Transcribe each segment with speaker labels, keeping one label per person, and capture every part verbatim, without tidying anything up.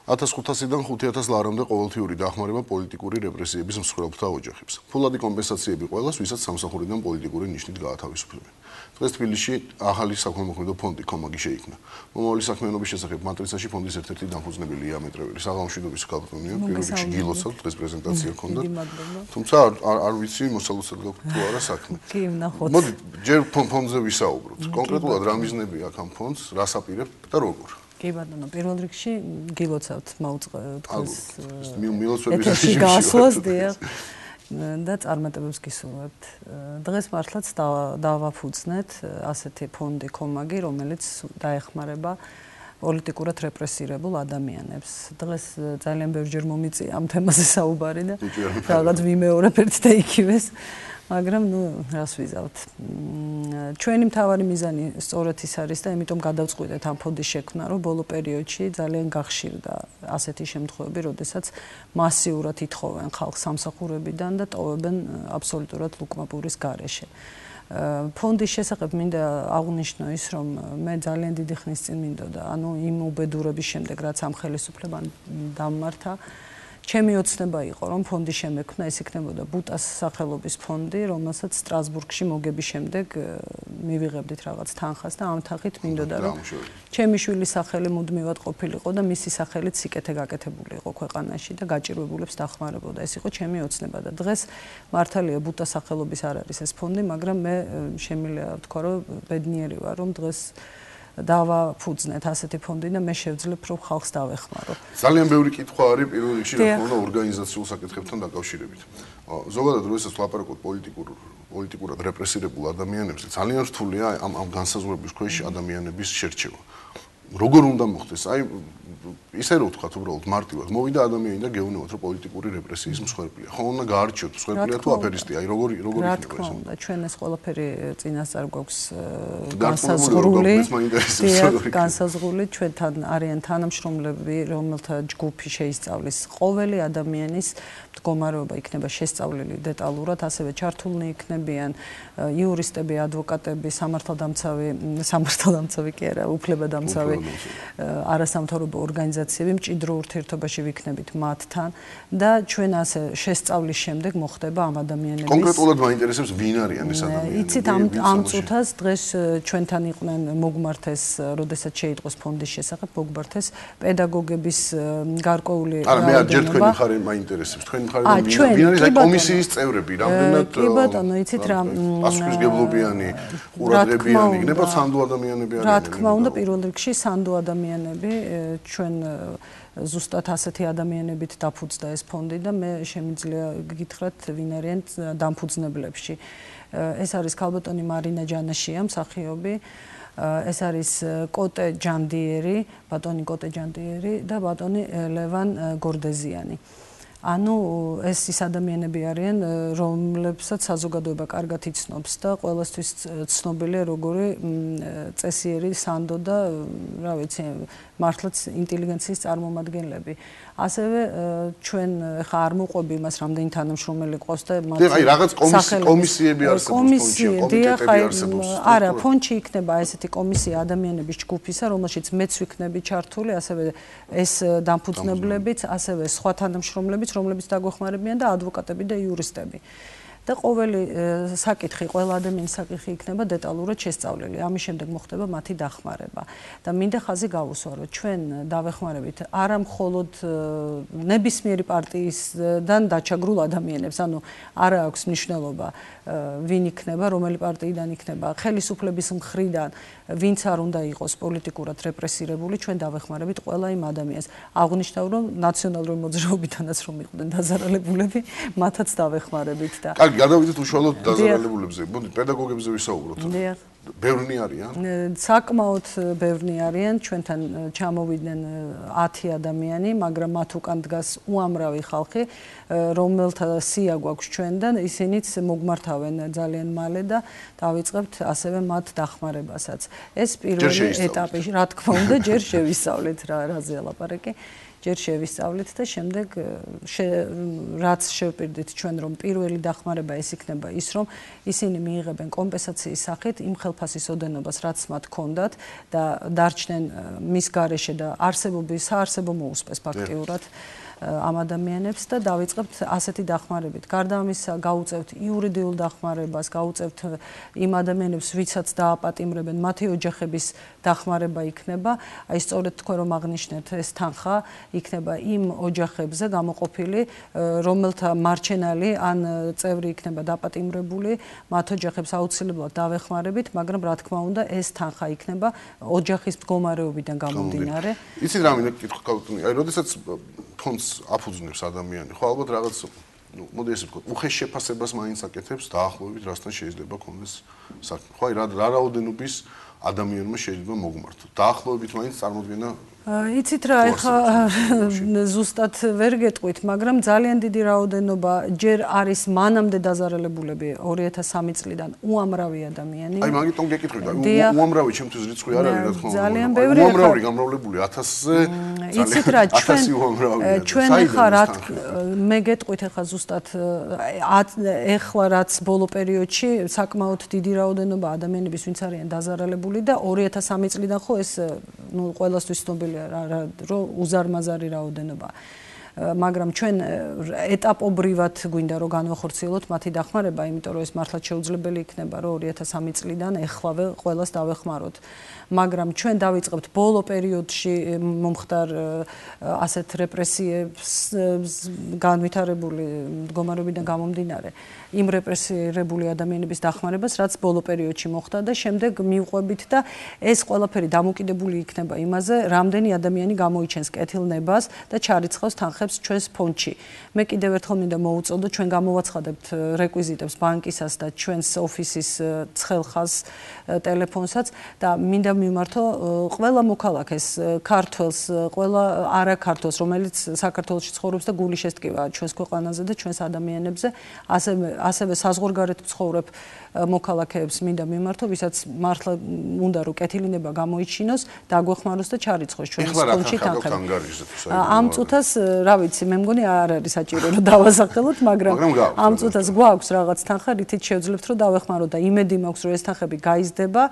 Speaker 1: ათას ხუთასიდან ხუთი ათას ლარამდე ყოველთვიური დახმარება პოლიტიკური რეპრესიების მსხვერპლთა ოჯახებს. ფულადი კომპენსაციები ყველას, ვისაც სამსახურიდან პოლიტიკური ნიშნით გაათავისუფლებენ. დღეს თბილისში ახალი საქველმოქმედო ფონდი კომაგი შეიქმნა. მომავალი საქმიანობის შესახებ მატრიცაში ფონდის ერთ-ერთი დამფუძნებელი იამეტრეველი საღამოშიდობის ქალბატონია, პირველ რიგში გილოცავ დღეს პრეზენტაცია ჰქონდა. თუმცა არ არ ვიცი მოსალოცად გაქვთ თუ არა საქმე.
Speaker 2: კი, ვნახოთ.
Speaker 1: მოდი, ჯერ ფონდზე ვისაუბროთ. კონკრეტულად რა მიზნები აქვს ამ ფონდს, რას აპირებთ და როგორ?
Speaker 2: კი ბატონო, პირველ რიგში გილოცავთ მაუწყე თქვენს
Speaker 1: მილოცვების
Speaker 2: ეთერში გასვლას დიახ და წარმატებებს გისურვებთ. დღეს მართლაც დავაფუძნეთ ასეთი ფონდი კომაგი, რომელიც დაეხმარება პოლიტიკურად რეპრესირებულ ადამიანებს. დღეს ძალიან ბევრჯერ მომიწია ამ თემაზე საუბარი და რაღაც ვიმეორებ ერთ და იქივეს. მაგრამ ნუ რას ვიზავთ. ჩვენი მთავარი მიზანი სწორედ ის არის და იმიტომ გადავწყვიტეთ ამ ფონდის შექმნა, რომ ბოლო პერიოდში ძალიან გახშირდა ასეთი შემთხვევები, როდესაც მასიურად ითხოვენ ხალხს სამსახურებიდან და ტოვებენ აბსოლუტურად ლუკმაპურის გარეშე. ფონდის შესახებ მინდა აღვნიშნო ის, რომ მე ძალიან დიდი ხნის წინ მინდოდა, ანუ იმ უბედურების შემდეგ, რაც ამ ხელისუფლებამ დამმართა, ჩემი ოცნება იყო, რომ ფონდი შემექმნა, ეს იქნებოდა ბუტას სახელობის ფონდი, რომელსაც სტრასბურგში მოგების შემდეგ მივიღებდით რაღაც თანხას და ამ თანხით მინდოდა, რომ ჩემი შვილის სახელი მუდმივად ყოფილიყო და მისი სახელით სიკეთე გაკეთებული იყო ქვეყანაში და გაჭირვებულებს დახმარებოდა. ეს იყო ჩემი ოცნება და დღეს მართალია ბუტას სახელობის არ არის ეს ფონდი, მაგრამ მე შემიძლია ვთქვა, რომ ბედნიერი ვარ, რომ დღეს დავაფუძნეთ ასეთი ფონდი და მე შევძლებ რომ ხალხს დავეხმარო.
Speaker 1: ძალიან ბევრი კითხვა არის პირველ რიგში რა თქმა უნდა ორგანიზაციულ საკითხებთან დაკავშირებით. ზოგადად როდესაც ვლაპარაკობთ პოლიტიკურ პოლიტიკურად რეპრესირებულ ადამიანებზე, ძალიან რთულია ამ ამ განსაზღვრების ქვეშ ადამიანების შერჩევა. როგორ უნდა მოხდეს? აი ისე რომ ვთქვათ უბრალოდ მარტივად, მოვიდა ადამიანი და გეუბნებათ რომ პოლიტიკური რეპრესიის მსხვერპლია. ხო უნდა გაარჩიოთ მსხვერპლია თუ აფერისტია? აი როგორი როგორი
Speaker 2: იქნება ეს? რა თქმა უნდა, ჩვენ ეს ყველაფერი წინასწარ გვაქვს განსაზღვრული. განსაზღვრული ჩვენთან არიან თანამშრომლები, რომელთა ჯგუფი შეისწავლის ყოველი ადამიანის მდგომარეობა იქნება შესწავლილი დეტალურად, ასევე ჩართულნი იქნებიან იურისტები, ადვოკატები, სამართალდამცავი, სამართალდამცავი კი არა, უფლებადამცავი არასამთავრობო ორგანიზაციები მჭიდრო ურთიერთობაში ვიქნებით მათთან და ჩვენ ასე შესწავლის შემდეგ მოხდება ამ ადამიანების
Speaker 1: კონკრეტულად მაინტერესებს ვინ არიან ეს ადამიანები?
Speaker 2: იცით ამ ამ წუთას დღეს ჩვენთან იყვნენ მოგმართეს, როდესაც შეიტყოს ფონდის შესახებ მოგმართეს პედაგოგების გარკვეული
Speaker 1: არა მე არ ჯერ თქვენი მხარე მაინტერესებს. თქვენი მხარე ვინ არის აი კომისიის წევრები, რამდენად
Speaker 2: კი ბატონო, იცით რა
Speaker 1: პასუხისმგებლობიანი, ყურადღებიანი იქნება სანდო ადამიანები არიან?
Speaker 2: რა თქმა უნდა, პირველ რიგში სანდო ადამიანები ჩვენ ზუსტად ასეთი ადამიანებით დაფუძნდა ეს ფონდი და მე შემიძლია გითხრათ ვინ არიან დამფუძნებლებში. ეს არის ქალბატონი მარინა ჯანაშია, მსახიობი, ეს არის კოტე ჯანდიერი, ბატონი კოტე ჯანდიერი და ბატონი ლევან გორდეზიანი. ანუ ეს ის ადამიანები არიან, რომლებსაც საზოგადოება კარგად იცნობს და ყველასთვის ცნობილია როგორი წესიერი სანდო და რა ვიცი, მართლაც ინტელიგენციის წარმომადგენლები. ასევე ჩვენ ხა არ მოყვები იმას, რამდენი თანამშრომელი ყავს და მათ
Speaker 1: აი რაღაც კომისიები არსებობს, კომიტეტები არსებობს.
Speaker 2: არა, ფონდში იქნება ესეთი კომისია ადამიანების ჯგუფისა, რომელშიც მეც ვიქნები ჩართული, ასევე ეს დამფუძნებლებიც, ასევე სხვა თანამშრომლებიც, რომლებიც დაგვეხმარებიან და ადვოკატები და იურისტები. და ყოველი საკითხი, ყველა ადამიანის საკითხი იქნება დეტალურად შესწავლილი. ამის შემდეგ მოხდება მათი დახმარება. და მინდა ხაზი გავუსვა, რომ ჩვენ დავეხმარებით არა მხოლოდ ნებისმიერი პარტიისგან დაჩაგრულ ადამიანებს, ანუ არა აქვს მნიშვნელობა ვინ იქნება, რომელი პარტიიდან იქნება, ხელისუფლების მხრიდან ვინც არ უნდა იყოს პოლიტიკურად რეპრესირებული, ჩვენ დავეხმარებით ყველა იმ ადამიანს. აღნიშნავ, რომ ნაციონალური მოძრაობიდანაც რომ იყვნენ დაზარალებულები, მათაც დავეხმარებით და
Speaker 1: კარგი, გადავიდეთ უშუალოდ დაზარალებულებზე. მოდი, პედაგოგებზე ვისაუბროთ.
Speaker 2: დიახ.
Speaker 1: ბევრნი არიან?
Speaker 2: საკმაოდ ბევრნი არიან, ჩვენთან ჩამოვიდნენ ათი ადამიანი, მაგრამ მათ უკან დგას უამრავი ხალხი, რომელთა სია გვაქვს ჩვენთან, ისინიც მოგმართავენ ძალიან მალე და დავიწყებთ ასევე მათ დახმარებასაც. ეს პირველი ეტაპი, რა თქმა უნდა, ჯერ შევისწავლეთ რა რაზეა ლაპარაკი. ჯერ შევისწავლეთ და შემდეგ რაც შევპირდით ჩვენ რომ პირველი დახმარება ეს იქნება ის რომ ისინი მიიღებენ კომპენსაციის სახით იმ ხელფასის ოდენობას, რაც მათ ჰქონდათ და დარჩნენ მის გარეშე და არსებობის საარსებო მოუსპეს ფაქტიურად ამ ადამიანებს და დავიწყებთ ასეთი დახმარებით. გარდა ამისა, გავუწევთ იურიდიულ დახმარებას, გავუწევთ იმ ადამიანებს, ვისაც დააპატიმრებენ, მათი ოჯახების დახმარება იქნება. აი სწორედ თქვენ რომ აღნიშნეთ, ეს თანხა იქნება იმ ოჯახებზე გამოყოფილი, რომელთა მარჩენალი ან წევრი იქნება დაპატიმრებული, მათ ოჯახებს აუცილებლად დავეხმარებით, მაგრამ რა თქმა უნდა, ეს თანხა იქნება ოჯახის მდგომარეობიდან გამომდინარე.
Speaker 1: იცით რა მინდა კითხვა გავუტუნი? აი, როდესაც ფონდს აფუძნებს ადამიანი, ხო ალბათ რაღაც, ну, მოდი ესე ვთქვათ, უხეშ შეფასებას მაინც აკეთებს დაახლოებით რასთან შეიძლება კონდეს საქმე. ხო, აი რა რა რაოდენობის ადამიანმა შეიძლება მოგმართო. დაახლოებით მაინც წარმოგვიდგენა
Speaker 2: იცით რა, ეხა ზუსტად ვერ გეტყვით, მაგრამ ძალიან დიდი რაოდენობა ჯერ არის მანამდე დაზარალებულები ორი ათას სამი წლიდან უამრავი ადამიანი.
Speaker 1: აი მაგიტომ გეკითხები და უამრავი ჩემთვის რიცხვი არ არის რა თქმა უნდა.
Speaker 2: ძალიან ბევრი
Speaker 1: უამრავი გამრავლებული ათასზე
Speaker 2: იცით რა, ჩვენ ჩვენ ეხა რა მე გეტყვით ეხა ზუსტად ეხლა რაც ბოლო პერიოდში საკმაოდ დიდი რაოდენობა ადამიანების ვინც არიან დაზარალებული და ორი ათას სამი წლიდან ხო ეს ნუ ყველასთვის ცნობილი რომ უზარმაზარი რაოდენობა. მაგრამ ჩვენ ეტაპობრივად გვინდა რომ განვახორციელოთ მათი დახმარება, იმიტომ რომ ეს მართლაც შეუძლებელი იქნება, რომ ორი ათას სამი წლიდან ეხლავე ყველას დავეხმაროთ. მაგრამ ჩვენ დავიწყებთ ბოლო პერიოდში მომხდარ ასეთ რეპრესიებს განვითარებული მდგომარეობიდან გამომდინარე იმ რეპრესირებული ადამიანების დახმარებას, რაც ბოლო პერიოდში მოხდა და შემდეგ მივყვებით და ეს ყველაფერი დამოკიდებული იქნება იმაზე, რამდენი ადამიანი გამოიჩენს კეთილნებას და ჩარიცხავს თანხებს ჩვენს ფონდში. მე კიდევ ერთხელ მინდა მოვუწოდო, ჩვენ გამოვაცხადებთ რეკვიზიტებს ბანკისას და ჩვენს ოფისის ცხელხას ტელეფონსაც და მინდა მიმართო ყველა მოქალაქეს, ქართველს, ყველა არაქართველს, რომელიც საქართველოში ცხოვრობს და გული შესტკივა ჩვენს ქვეყანაზე და ჩვენს ადამიანებზე, ასევე ასევე საზღვარგარეთ მცხოვრებ მოქალაქეებს მინდა მიმართო, ვისაც მართლა უნდა რომ კეთილინება გამოიჩინოს, დაგვეხმაროს და ჩარიცხოს ჩვენს ფონდში თანხები. ამ წუთას, რა ვიცი, მე მგონი არ არის საჭირო რომ დავასახელოთ, მაგრამ ამ წუთას გვაქვს რაღაც თანხა, რითიც შევძლებთ რომ დავეხმაროთ და იმედი მაქვს რომ ეს თანხები გაიზრდება.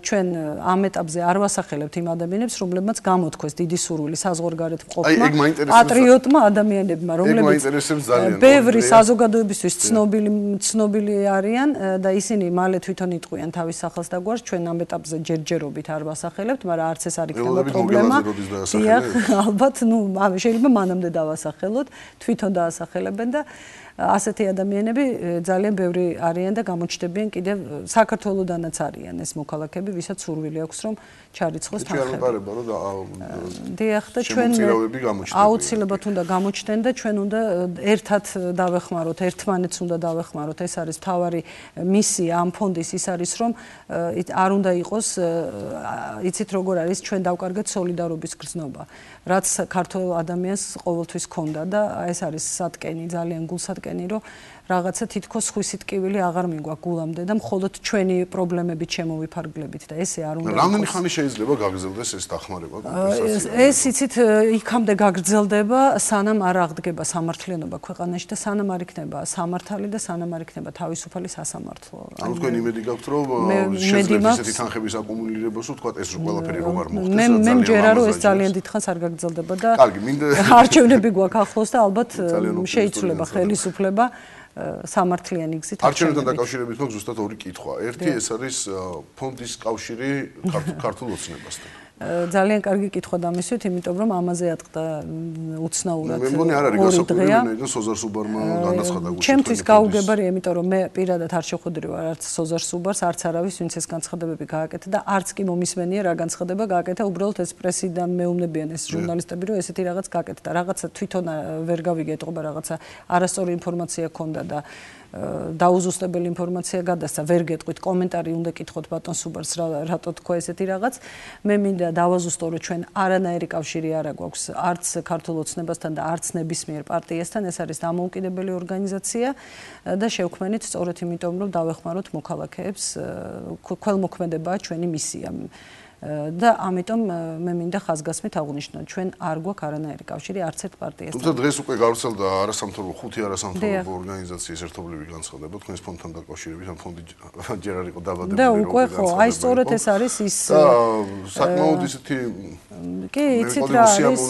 Speaker 2: ჩვენ ამ ეტაპზე არ ვასახელებთ იმ ადამიანებს, რომლებმაც გამოთქვეს დიდი სურვილი საზღვარგარეთ მყოფმა, პატრიოტმა ადამიანებმა, რომლებიც ბევრი საზოგადოებისთვის ცნობილი ცნობილი არიან და ისინი მალე თვითონ იტყვიან თავის სახელს და გვარს. ჩვენ ამ ეტაპზე ჯერჯერობით არ ვასახელებთ, მაგრამ არც ეს არ იქნება პრობლემა. დიახ, ალბათ, ну, შეიძლება მანამდე დავასახელოთ, თვითონ დაასახელებენ და ასეთი ადამიანები ძალიან ბევრი არიან და გამოჩნდებიან კიდევ საქართველოდანაც არიან ეს მოქალაქეები, ვისაც სურვილი აქვს რომ ჩარიცხოს თანხები. დიახ, და ჩვენ აუცილებლად უნდა გამოჩნდნენ და ჩვენ უნდა ერთად დავეხმაროთ, ერთმანეთს უნდა დავეხმაროთ. ეს არის მთავარი მისია ამ ფონდის, ის არის რომ არ უნდა იყოს, იცით როგორ არის, ჩვენ დავკარგეთ სოლიდარობის გრძნობა, რაც ქართულ ადამიანს ყოველთვის ჰქონდა და ეს არის სატკენი, ძალიან გულსატკენი, რომ რაღაცა თითქოს ხვისი ტკივილი აღარ მიგვაქვს გულამდე და მხოლოდ ჩვენი პრობლემებით შემოვიფარგლებით და ესე არ უნდა.
Speaker 1: რამდენი ხანი შეიძლება გაგრძელდეს ეს დახმარება?
Speaker 2: ეს იცით იქამდე გაგრძელდება, სანამ არ აღდგება სამართლიანობა ქვეყანაში და სანამ არ იქნება სამართალი და სანამ არ იქნება თავისუფალი სასამართლო.
Speaker 1: ანუ თქვენ იმედი გაქვთ რომ შეძლებთ ესეთი თანხების აკუმულირებას, ვთქვათ ეს ყველაფერი რომ არ მოხდეს.
Speaker 2: მე მე მჯერა რომ ეს ძალიან დიდხანს არ გაგრძელდება და არჩევნები გვაქვს ახლოს და ალბათ შეიცვლება ხელისუფლება სამართლიანი გზით.
Speaker 1: არჩევნებთან დაკავშირებით მაქვს ზუსტად ორი კითხვა. ერთი ეს არის ფონდის კავშირი ქართულ ოცნებასთან.
Speaker 2: ძალიან კარგი კითხვა დამისვით, იმიტომ რომ ამაზე ატყდა უცნაურად.
Speaker 1: მე მგონი არ არის გასაკვირველი, მაგრამ სოზარ სუბარმა განაცხადა გუშინ.
Speaker 2: ჩემთვის გაუგებარია, იმიტომ რომ მე პირადად არ შეხვედრი ვარ არც სოზარ სუბარს, არც არავის, ვინც ეს განცხადებები გააკეთა და არც კი მომისმენია რა განცხადება გააკეთა, უბრალოდ ეს პრესიდან მეუბნებიან ეს ჟურნალისტები, რომ ესეთი რაღაც გააკეთა. რაღაცა თვითონ ვერ გავიგე, ეთყობა რაღაცა არასწორი ინფორმაცია ქონდა და დაუზუსტებელი ინფორმაცია გადასცა, ვერ გეტყვით, კომენტარი უნდა კითხოთ ბატონ სუბარს, რატო თქვა ესეთი რაღაც. მე მინდა დავაზუსტო, რომ ჩვენ არანაირი კავშირი არ აქვს არც ქართულ ოცნებასთან და არც ნებისმიერ პარტიასთან, ეს არის დამოუკიდებელი ორგანიზაცია და შევქმნით სწორედ იმიტომ, რომ დავეხმაროთ მოქალაქეებს, ქველმოქმედებაა ჩვენი მისია. და ამიტომ მე მინდა ხაზგასმით აღვნიშნო, ჩვენ არ გვაქვს არანაირი კავშირი არც ერთ პარტიასთან.
Speaker 1: თუმცა დღეს უკვე გავრცელდა არასამთავრობო ხუთი არასამთავრობო ორგანიზაციის ერთობლივი განცხადება თქვენს ფონდთან დაკავშირებით, ამ ფონდი ჯერ არ იყო დაბადებული.
Speaker 2: და უკვე ხო, აი სწორედ ეს არის ის
Speaker 1: საკმაოდ ისეთი
Speaker 2: კი, იცით რა არის.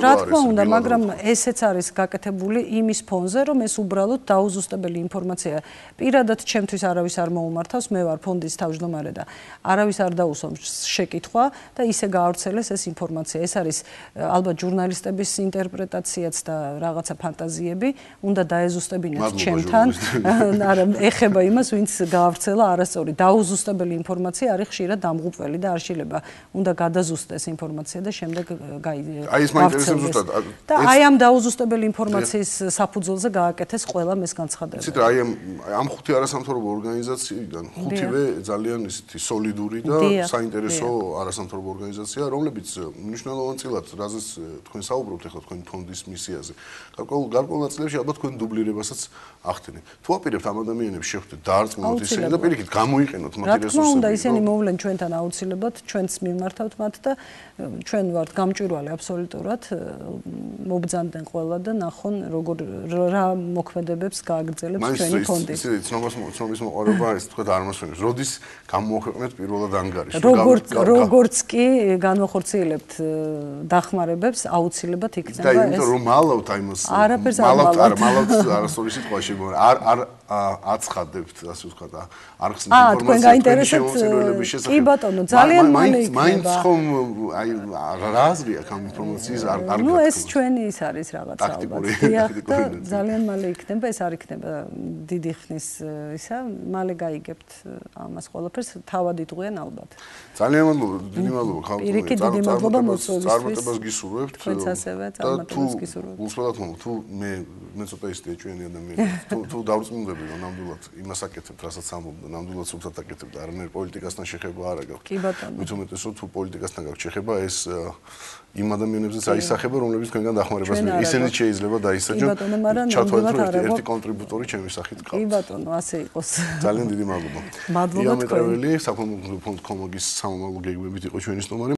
Speaker 2: რა თქმა უნდა, მაგრამ ესეც არის გაკეთებული იმის ფონზე, რომ ეს უბრალოდ დაუზუსტებელი ინფორმაცია. პირადად ჩემთვის არავის არ მოუმართავს, მე ვარ ფონდის თავმჯდომარე და არავის არ დაუსვამს შეკითხვა და ისე გაავრცელეს ეს ინფორმაცია. ეს არის ალბათ ჟურნალისტების ინტერპრეტაციაც და რაღაცა ფანტაზიები, უნდა დაეზუსტებინათ ჩემთან. არა, ეხება იმას, ვინც გაავრცელა არასწორი. დაუზუსტებელი ინფორმაცია არის ხშირად დამღუპველი და არ შეიძლება უნდა გადაზუსტდეს ინფორმაცია და შემდეგ გაიძინოს.
Speaker 1: აი ეს მაინტერესებს ზუსტად.
Speaker 2: და აი ამ დაუზუსტებელი ინფორმაციის საფუძველზე გააკეთეს ყველა ეს განცხადება.
Speaker 1: იცით რა, აი ამ ხუთი არასამთავრობო ორგანიზაციიდან ხუთივე ძალიან ისეთი სოლიდური და საინტერესო არასამთავრობო ორგანიზაცია, რომლებიც მნიშვნელოვან წილად, რაზეც თქვენ საუბრობთ ახლა თქვენ ფონდის მისიაზე. გარკვეულ გარკვეულ ნაწილებში ალბათ თქვენ დუბლირებასაც ახდენით. თუ აპირებთ ამ ადამიანებს შეხვდეთ, დაარწმუნოთ ისინი და პირიქით გამოიყენოთ მათი რესურსები. რა თქმა უნდა, ისინი მოვლენ ჩვენთან აუცილებლად, ჩვენც მიმართავთ მათ და ჩვენ ვართ გამჭვირვალე აბსოლუტურად, მობრძანდნენ ყველა და ნახონ როგორ რა მოქმედებებს გააგრძელებს ჩვენი ფონდი. მაინც ისე ცნობას ცნობის მოყარება ეს თქვა არ მასვენებს. როდის გამოაქვეყნეთ პირველად ანგარიშს?
Speaker 2: როგორც როგორც კი განვახორციელებთ დახმარებებს, აუცილებლად იქნება ეს.
Speaker 1: და იმიტომ რომ მალავთ აი მას მალავთ არა მალავთ არასწორი სიტყვაში არ არ აცხადებთ ასე ვთქვათ არ ხსნით ინფორმაციას შემოწირულების შესახებ.
Speaker 2: კი ბატონო, ძალიან მალე იქნება.
Speaker 1: მაინც ხომ აი რა აზრი აქვს ამ ინფორმაციის არ არ
Speaker 2: ნუ ეს ჩვენი ის არის რაღაცა ალბათ. და ძალიან მალე იქნება, ეს არ იქნება დიდი ხნის ისა, მალე გაიგებთ ამას ყველაფერს, თავად იტყვიან ალბათ.
Speaker 1: ძალიან მადლობა, დიდი მადლობა ხალხო.
Speaker 2: პირიქით დიდი მადლობა მოწვევისთვის.
Speaker 1: წარმატებას გისურვებთ.
Speaker 2: თქვენც ასევე წარმატებას გისურვებთ.
Speaker 1: უსმენად მომო, თუ მე მე ცოტა ისეთი ეჭვიანი ადამიანი, თუ თუ დავრწმუნდები რომ ნამდვილად იმას აკეთებთ, რასაც ამბობ, ნამდვილად სულსაც აკეთებთ, არანაირ პოლიტიკასთან შეხება არ აქვს.
Speaker 2: კი ბატონო.
Speaker 1: მით უმეტესად თუ პოლიტიკასთან გაქვს შეხება, ეს იმ ადამიანებზეც აისახება, რომლებიც თქვენგან დახმარებას მიიღებენ. ისინიც შეიძლება დაისაჯონ. ჩათვალეთ რომ ერთი კონტრიბუტორი ჩემი სახით გყავს.
Speaker 2: კი ბატონო, ასე იყოს.
Speaker 1: ძალიან დიდი მადლობა.
Speaker 2: მადლობა თქვენ.
Speaker 1: იამეტრეველი, საქონლო ფონდ კომოგის სამომავლო გეგმებით იყო ჩვენი სტუმარი.